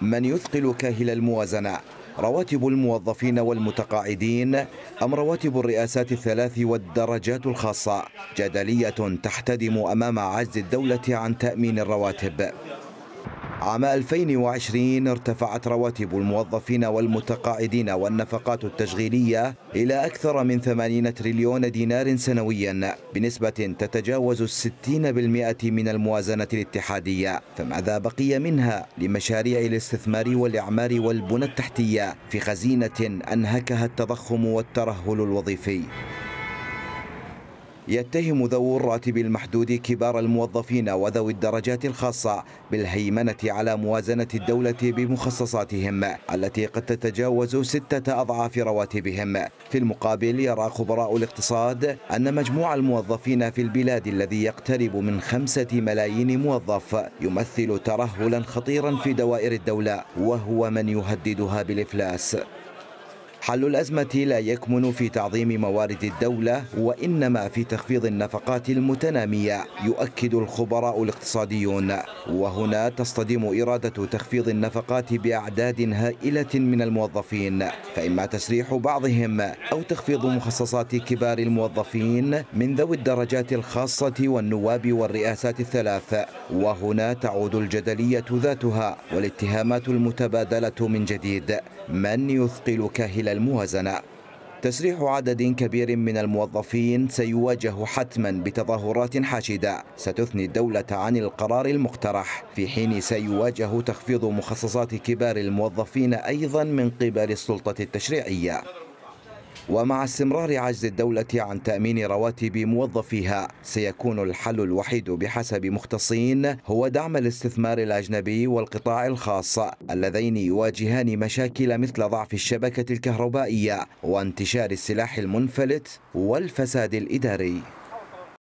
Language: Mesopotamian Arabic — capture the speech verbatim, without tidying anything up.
من يثقل كاهل الموازنة؟ رواتب الموظفين والمتقاعدين أم رواتب الرئاسات الثلاث والدرجات الخاصة؟ جدلية تحتدم أمام عجز الدولة عن تأمين الرواتب. عام ألفين وعشرين ارتفعت رواتب الموظفين والمتقاعدين والنفقات التشغيلية إلى أكثر من ثمانين تريليون دينار سنويا بنسبة تتجاوز الستين بالمئة من الموازنة الاتحادية، فماذا بقي منها لمشاريع الاستثمار والإعمار والبنى التحتية في خزينة أنهكها التضخم والترهل الوظيفي؟ يتهم ذوو الراتب المحدود كبار الموظفين وذوي الدرجات الخاصة بالهيمنة على موازنة الدولة بمخصصاتهم التي قد تتجاوز ستة أضعاف رواتبهم. في المقابل يرى خبراء الاقتصاد أن مجموع الموظفين في البلاد الذي يقترب من خمسة ملايين موظف يمثل ترهلا خطيرا في دوائر الدولة، وهو من يهددها بالإفلاس. حل الأزمة لا يكمن في تعظيم موارد الدولة وإنما في تخفيض النفقات المتنامية، يؤكد الخبراء الاقتصاديون. وهنا تصطدم إرادة تخفيض النفقات بأعداد هائلة من الموظفين، فإما تسريح بعضهم أو تخفيض مخصصات كبار الموظفين من ذوي الدرجات الخاصة والنواب والرئاسات الثلاث. وهنا تعود الجدلية ذاتها والاتهامات المتبادلة من جديد: من يثقل كاهل الموازنة؟ تسريح عدد كبير من الموظفين سيواجه حتما بتظاهرات حاشدة ستثني الدولة عن القرار المقترح، في حين سيواجه تخفيض مخصصات كبار الموظفين أيضا من قبل السلطة التشريعية. ومع استمرار عجز الدولة عن تأمين رواتب موظفيها، سيكون الحل الوحيد بحسب مختصين هو دعم الاستثمار الأجنبي والقطاع الخاص اللذين يواجهان مشاكل مثل ضعف الشبكة الكهربائية وانتشار السلاح المنفلت والفساد الإداري.